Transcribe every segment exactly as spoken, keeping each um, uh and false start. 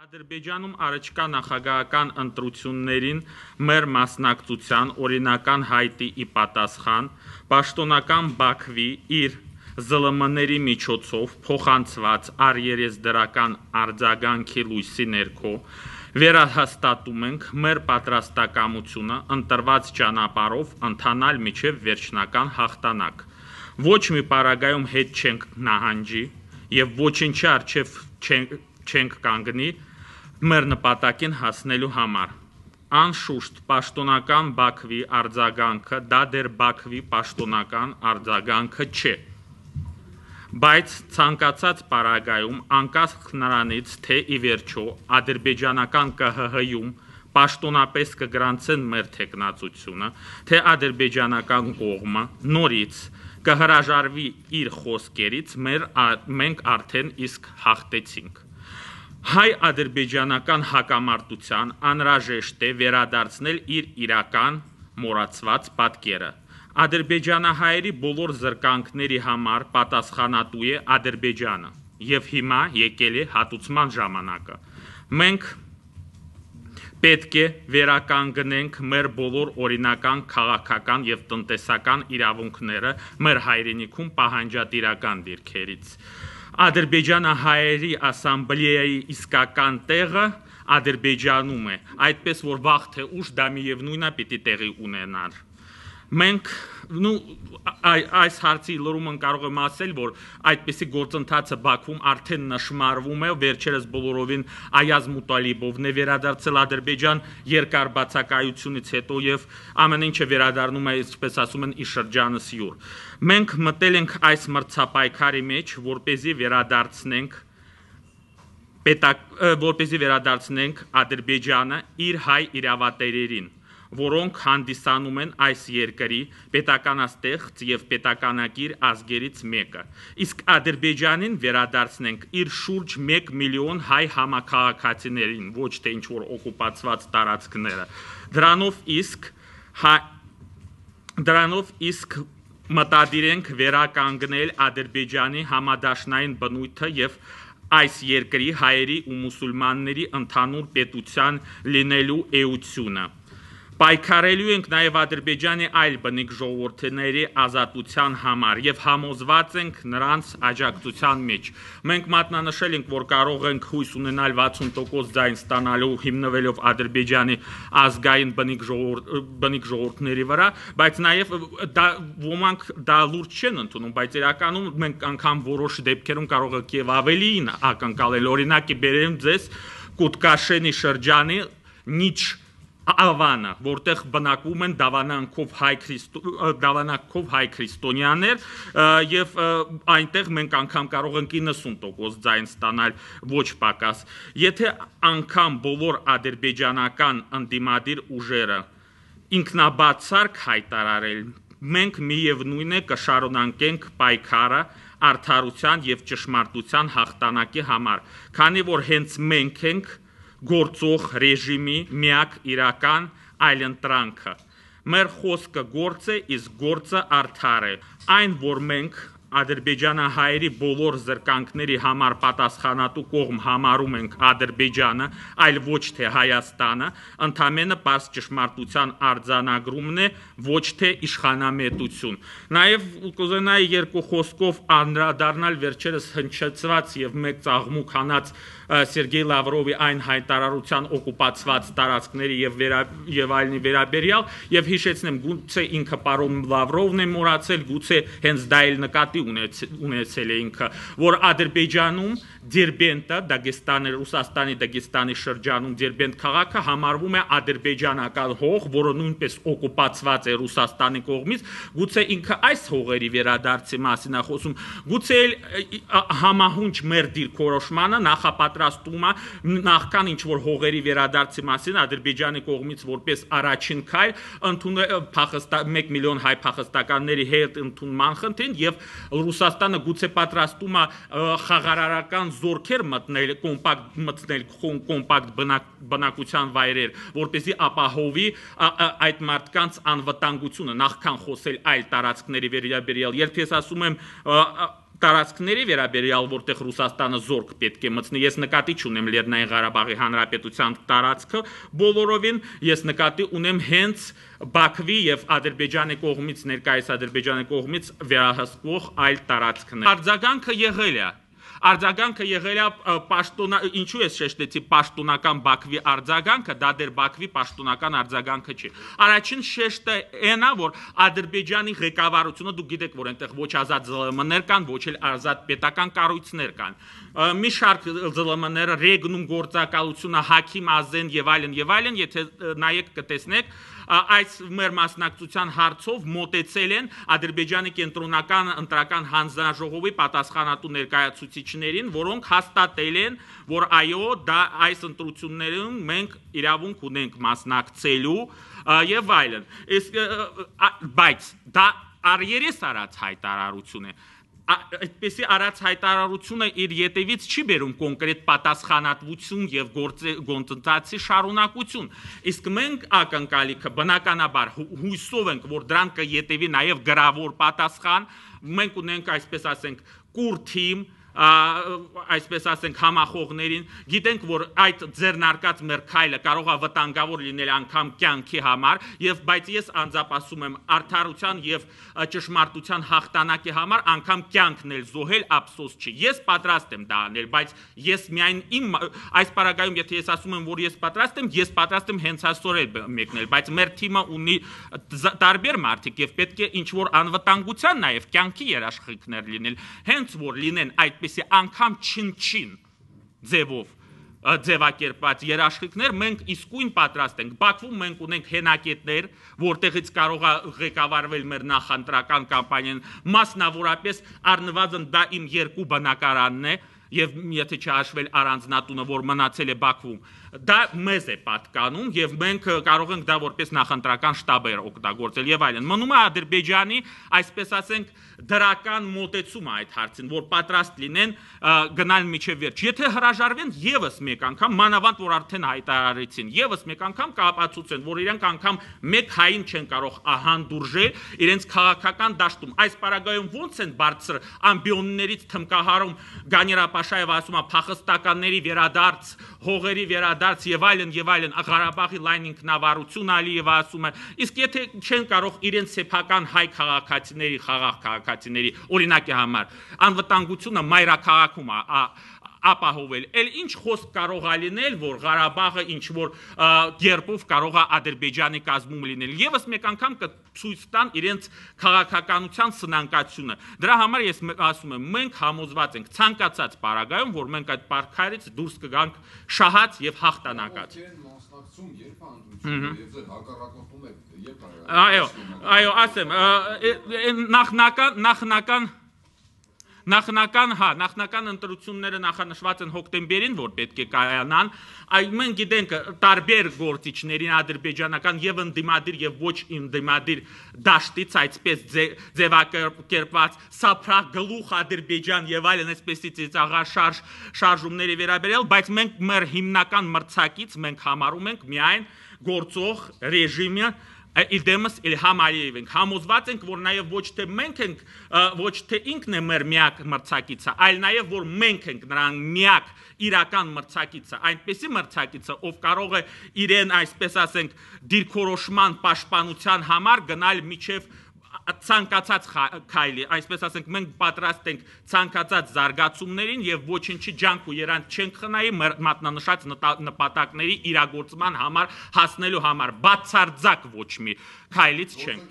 Ադրբեջանում առաջկա նախագահական ընտրություններին մեր մասնակցության օրինական հայտի ի պատասխան պաշտոնական Բաքվի իր ԶԼՄ-ների միջոցով փոխանցված առերեսդրական արձագանքի լույսի ներքո վերահաստատում ենք մեր պատրաստակամությունը ընտրված ճանապարհով ընթանալ մինչև վերջնական հաղթանակ։ Ոչ մի պարագայում հետ չենք նահանջի եւ ոչինչի առջեւ չենք, չենք կանգնի մեր նպատակին հասնելու համար։ Անշուշտ պաշտոնական Բաքվի արձագանքը դա դեռ Բաքվի պաշտոնական արձագանքը չէ։ Բայց ցանկացած պարագայում անկախ նրանից, թե ի վերջո ադրբեջանական Կ Հ Հ-ում պաշտոնապես կգրանցեն մեր թեկնածությունը, թե ադրբեջանական կողմը նորից կհրաժարվի իր խոսքերից, մեր, մենք արդեն իսկ հաղթեցինք։ Հայ-ադրբեջանական հակամարտության անհրաժեշտ է վերադարձնել իր իրական մոռացված պատկերը։ Ադրբեջանահայերի բոլոր զրկանքների համար պատասխանատու է Ադրբեջանը, եւ հիմա եկել է հատուցման ժամանակը։ Մենք պետք է վերականգնենք մեր բոլոր օրինական քաղաքական եւ տնտեսական իրավունքները մեր հայրենիքում պահանջատիրական դիրքերից։ Ադրբեջանահայերի ասամբլեայի իսկական տեղը Ադրբեջանում է, այդպես որ վաղ թե ուշ դա միևնույն է պիտի տեղի ունենար։ Մենք նու այս հարցի լրումն կարող եմ ասել, որ այդպիսի գործընթացը Բաքվում արդեն նշմարվում է, վերջերս բոլորովին Այազ Մուտալիբովն է վերադարձել Ադրբեջան երկար բացակայությունից հետո եւ ամեն ինչը վերադառնում է, ինչպես ասում են, ի շրջանս յուր։ Մենք մտել ենք այս մրցապայքարի մեջ, որպեսզի վերադարձնենք պետակ, որպեսզի վերադարձնենք Ադրբեջանը իր հայ իրավատերերին, որոնք հանդիսանում են այս երկրի պետականաստեղծ եւ պետականակիր ազգերից մեկը։ Իսկ Ադրբեջանին վերադարձնենք իր շուրջ մեկ միլիոն հայ համաքաղաքացիներին, ոչ թե ինչ որ օկուպացված տարածքները։ Դրանով իսկ հայ, դրանով իսկ մտադիր ենք վերականգնել Ադրբեջանի համադաշնային բնույթը եւ այս երկրի հայերի ու մուսուլմանների ընդհանուր պետության լինելու էությունը։ Պայքարելու ենք նաև Ադրբեջանի այլ բնիկ ժողովուրդների ազատության համար եւ համոզված ենք նրանց աջակցության մեջ։ Մենք մատնանշել ենք, որ կարող ենք հույս ունենալ վաթսուն տոկոս ձայն ստանալու հիմնվելով Ադրբեջանի ազգային բնիկ ժողովուրդ, բնիկ ժողովուրդների վրա, բայց նաև դա ոմանք դա լուրջ չեն ընդունում, բայց իրականում մենք անգամ որոշ դեպքերում կարող ենք եւ ավելին ակնկալել։ Օրինակի բերեմ ձեզ Կուտկաշենի շրջանի Նիչ Ավանը, որտեղ բնակվում են դավանանքով հայ դավանանքով հայ քրիստոնյաներ եւ այնտեղ մենք անգամ կարող ենք իննսուն տոկոս ձայն ստանալ ոչ պակաս։ Եթե անգամ բոլոր ադրբեջանական ընդդիմադիր ուժերը ինքնաբացարկ հայտարարել, մենք միևնույն է կշարունակենք պայքարը արդարության եւ ճշմարտության հաղթանակի համար, քանի որ հենց մենք ենք գործող ռեժիմի միակ իրական այլընտրանքը։ Մեր խոսքը գործ է, իսկ գործը արդար է։ Այն, որ մենք ադրբեջանահայերի բոլոր զրկանքների համար պատասխանատու կողմ համարում ենք Ադրբեջանը, այլ ոչ թե Հայաստանը, ընդամենը պարզ ճշմարտության արձանագրումն է, ոչ թե իշխանամետություն։ Նաև կուզենայի երկու խոսքով անդրադառնալ վերջերս հնչեցված եւ մեկ ծաղմուկ հանած Սերգեյ Լավրովի այն հայտարարության օկուպացված տարածքների եւ վերա, եւ այլնի վերաբերյալ եւ հիշեցնեմ, գուցե ինքը պարոն Լավրովն է մոռացել, գուցե հենց դա էլ նկատի ունեցել է ինքը, որ Ադրբեջանում Դերբենտը, Դագեստանի, Ռուսաստանի Դագեստանի շրջանում Դերբենտ քաղաքը համարվում է ադրբեջանական հող, որը նույնպես օկուպացված է Ռուսաստանի կողմից, գուցե ինքը այս հողերի վերադարձի մասին է խոսում, գուցե համահունչ մեր դիրքորոշմանը նախապատրաստում է նախքան ինչ որ հողերի վերադարձի մասին Ադրբեջանի կողմից որպես առաջին քայլ ընդունել մեկ միլիոն հայ փախստականների հետ ընդունման խնդրին եւ Ռուսաստանը գուցե պատրաստում է խաղարարական զորքեր մտնել կոմպակտ մտնել կոմպակտ բնակության վայրեր, որպեսզի ապահովի այդ մարդկանց անվտանգությունը, նախքան խոսել այլ տարածքների վերաբերյալ։ Երբ ես ասում եմ տարածքների վերաբերյալ, որտեղ Ռուսաստանը զորք պետք է մտցնի, ես նկատի չունեմ Լեռնային Ղարաբաղի Հանրապետության տարածքը բոլորովին, ես նկատի ունեմ հենց Բաքվի եւ Ադրբեջանի կողմից, ներկայիս Ադրբեջանի կողմից վերահսկվող այլ տարածքներ։ Արձագանքը եղել է Արձագանքը եղել է պաշտոնա, ինչու ես շեշտեցի պաշտոնական Բաքվի արձագանքը, դա դեռ Բաքվի պաշտոնական արձագանքը չի։ Առաջին շեշտը այն է, որ Ադրբեջանի ղեկավարությունը, դուք գիտեք, որ այնտեղ ոչ ազատ ԶԼՄ-ներ կան, ոչ էլ ազատ պետական կառույցներ կան։ Մի շարք ԶԼՄ-ները, Ռեգնում գործակալությունը, Հաքիմ Ազեն եւ այլն եւ այլն, եթե նայեք կտեսնեք, այս մեր մասնակցության հարցով մոտեցել են Ադրբեջանի կենտրոնական ընտրական հանձնաժողովի պատասխանատու ներկայացուցիչներին, որոնք հաստատել են, որ այո, դա այս ընտրություններում մենք իրավունք ունենք մասնակցելու եւ այլն։ Բայց դա առերես արած հայտարարություն է։ Այդպեսի արած հայտարարությունը իր ետևից չի բերում կոնկրետ պատասխանատվություն եւ գործընթացի շարունակություն։ Իսկ մենք ակնկալիքը բնականաբար հույսով ենք, որ դրան կետևի նաեւ գրավոր պատասխան, մենք ունենք, այսպես ասենք, կուր թիմ, այսպես ասենք համախոհներին, գիտենք, որ այդ ձեռնարկած մեր քայլը կարող է վտանգավոր լինել անգամ կյանքի համար, եւ բայց ես անձապասում եմ արդարության եւ ճշմարտության հաղթանակի համար անգամ կյանքն էլ զոհել ափսոս չի։ Ես պատրաստ եմ դա անել, բայց ես միայն իմ այս պարագայում, եթե ես ասում եմ, որ ես պատրաստ եմ, ես պատրաստ եմ հենց այսօր էլ մեկնել, բայց մեր թիմը ունի տարբեր մարդիկ եւ պետք է ինչ որ անվտանգության նաեւ կյանքի երաշխիքներ լինել, հենց որ լինեն այդ Պեսի անգամ չին-չին ձևով ձևակերպված երաշխիքներ, մենք իսկույն պատրաստ ենք։ Բաքվում մենք ունենք հենակետներ, որտեղից կարող է ղեկավարվել մեր նախընտրական կամպանիան, մասնավորապես առնվազն դա իմ երկու բնակարանն է, եւ եթե չհաշվել առանձնատունը, որ մնացել է Բաքվում, դա մեզ է պատկանում եւ մենք կարող ենք դա որպես նախընտրական շտաբեր օգտագործել եւ այլն։ Մնում է Ադրբեջանի, այսպես ասենք, դրական մոտեցումը այդ հարցին, որ պատրաստ լինեն գնալ միջև վերջ։ Եթե հրաժարվեն եւս մեկ անգամ, մանավանդ որ արդեն հայտարարեցին, եւս մեկ անգամ կապացուցեն, որ իրենք անգամ մեկ հային չեն կարող ահանդուրժել իրենց քաղաքական դաշտում։ Այս պարագայում ո՞նց են բարձր ամբիոններից թմկահարում Գանիրապաշաևը ասում է փախստականների վերադարձ, հողերի վերադարձ եւ այլն եւ այլն, Ղարաբաղի լայն ինքնավարություն Ալիևը ասում է։ Իսկ եթե չեն կարող իրենց սեփական հայ քաղաքացիների, խաղաղ քաղաքացիների օրինակի համար անվտանգությունը մայրաքաղաքում է ապահովել, էլ ինչ խոսք կարող է լինել, որ Ղարաբաղը ինչ որ կերպով կարող է Ադրբեջանի կազմում լինել։ Եվս մեկ անգամ կցույց տան իրենց քաղաքականության սնանկացությունը։ Դրա համար ես ասում եմ, մենք համոզված ենք ցանկացած պարագայում, որ մենք այդ պարքայից դուրս կգանք շահած եւ հաղթանակած։ Այո, այո, ասեմ, նախնական նախնական Նախնական, հա, նախնական ընտրությունները նախանշված են հոկտեմբերին, որ պետք է կայանան, այլ մենք գիտենք տարբեր գործիչներին ադրբեջանական եւ ընդդիմադիր եւ ոչ ընդդիմադիր դաշտից այսպես ձևակերպված սափրագլուխ Ադրբեջան եւ այլն այսպեսի ծիծաղաշարժ շարժումների վերաբերյալ, բայց մենք մեր հիմնական մրցակից մենք համարում ենք միայն գործող ռեժիմը Իդեմս Իլհամ Ալիև ենք, համոզված ենք, որ նաև ոչ թե մենք ենք, ոչ թե ինքն է մեր միակ մրցակիցը, այլ նաև որ մենք ենք նրան միակ իրական մրցակիցը, այնպեսի մրցակիցը, ով կարող է իրեն, այսպես ասենք, դիրքորոշման պաշտպանության համար գնալ միջև ցանկացած քայլի, այսպես ասենք, մենք պատրաստ ենք ցանկացած զարգացումներին եւ ոչինչի ջանք ու երանք չենք խնայի մեր մատնանշած նպատակների իրագործման համար հասնելու համար, բացարձակ ոչ մի քայլից չենք։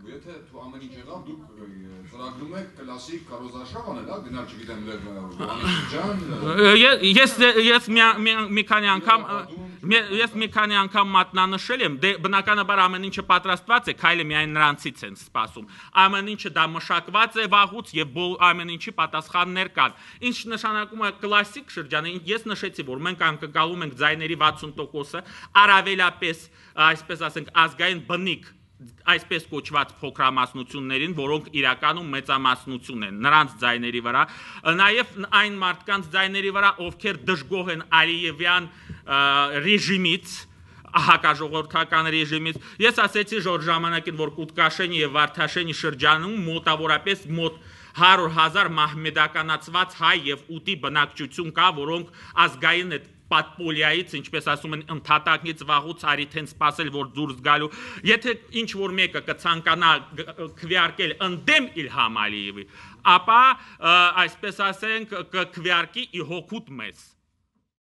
Եթե դու ամեն ինչ եղավ, դուք ծրագրում եք կլասիկ կարոզարշավ անել, հա, գնալ չգիտեմ Վանիշջան։ Ես ես մի քանի անգամ ես մի քանի անգամ մատնանշել եմ, դե բնականաբար ամեն ինչը պատրաստված է, քայլը միայն նրանցից են սպասում։ Ամեն ինչը դա մշակված է վաղուց եւ ամեն ինչի պատասխաններ կան։ Ինչ նշանակում է կլասիկ շրջանը, ես նշեցի, որ մենք անկալում ենք ձայների վաթսուն տոկոսը, առավելապես, այսպես ասենք, ազգային բնիկ այսպես կոչված փոքրամասնություններին, որոնք իրականում մեծամասնություն են նրանց ձայների վրա, նաև այն մարդկանց ձայների վրա, ովքեր դժգոհ են Ալիևյան ռեժիմից, հակաժողովրդական ռեժիմից։ Ես ասեցի ժոր ժամանակին, որ Կուտկաշենի եւ Վարդաշենի շրջանում մոտավորապես մոտ հարյուր հազար մահմեդականացված հայ եւ ուտի բնակչություն կա, որոնք ազգային այդ պատպոլիայից, ինչպես ասում են, ընդհատակից վաղուց արի թեն սпасել, որ դուրս գալու։ Եթե ինչ որ մեկը կցանկանա քվեարկել ընդդեմ Իլհամ Ալիևի, ապա այսպես ասենք կքվեարկի ի հոգուտ մեզ։